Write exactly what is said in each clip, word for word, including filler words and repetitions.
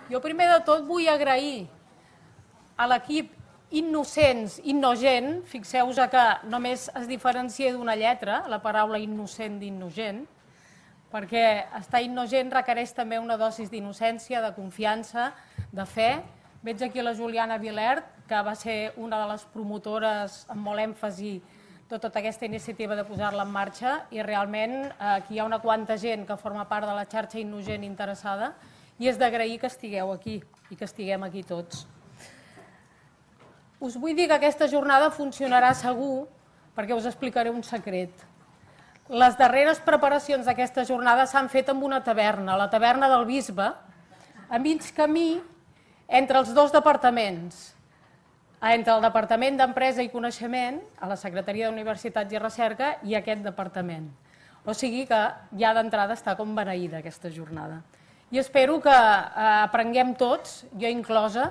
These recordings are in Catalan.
Jo primer de tot vull agrair a l'equip Innocents, Innogent, fixeu-vos que només es diferencia d'una lletra, la paraula innocent d'innogent, perquè estar innocent requereix també una dosis d'innocència, de confiança, de fe. Veig aquí la Juliana Vilert, que va ser una de les promotores amb molt èmfasi de tota aquesta iniciativa de posar-la en marxa, i realment aquí hi ha una quanta gent que forma part de la xarxa Innogent interessada, i és d'agrair que estigueu aquí i que estiguem aquí tots. Us vull dir que aquesta jornada funcionarà segur perquè us explicaré un secret. Les darreres preparacions d'aquesta jornada s'han fet en una taverna, la taverna del Bisbe, a mig camí entre els dos departaments, entre el Departament d'Empresa i Coneixement, a la Secretaria d'Universitats i Recerca, i aquest departament. O sigui que ja d'entrada està com beneïda aquesta jornada. I espero que aprenguem tots, jo inclosa,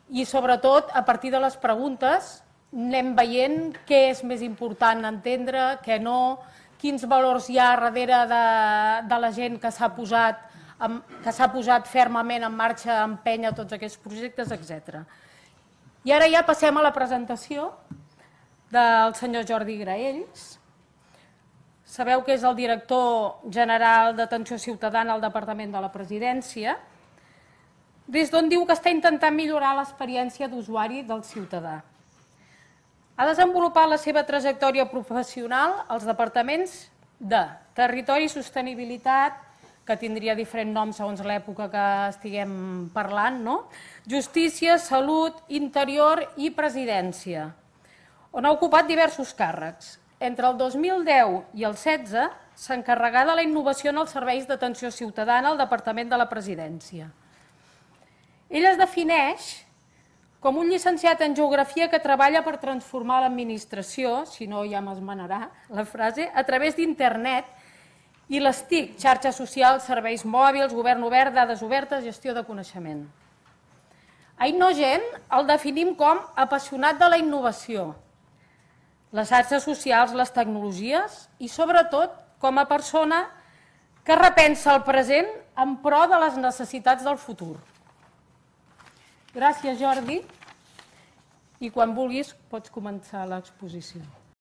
i sobretot a partir de les preguntes anem veient què és més important entendre, què no, quins valors hi ha darrere de la gent que s'ha posat, que s'ha posat fermament en marxa a empènyer tots aquests projectes, etcètera. I ara ja passem a la presentació del senyor Jordi Graells. Sabeu que és el director general d'Atenció Ciutadana al Departament de la Presidència, des d'on diu que està intentant millorar l'experiència d'usuari del ciutadà. Ha desenvolupat la seva trajectòria professional als departaments de Territori i Sostenibilitat, que tindria diferents noms segons l'època que estiguem parlant, Justícia, Salut, Interior i Presidència, on ha ocupat diversos càrrecs. Entre el dos mil deu i el setze s'encarregà de la innovació en els serveis d'atenció ciutadana al Departament de la Presidència. Ell es defineix com un llicenciat en Geografia que treballa per transformar l'administració, si no ja m'esmenarà la frase, a través d'internet i les T I C, xarxes socials, serveis mòbils, govern obert, dades obertes, gestió de coneixement. A Innogent el definim com apassionat de la innovació, les xarxes socials, les tecnologies i sobretot com a persona que repensa el present en pro de les necessitats del futur. Gràcies, Jordi, i quan vulguis pots començar l'exposició.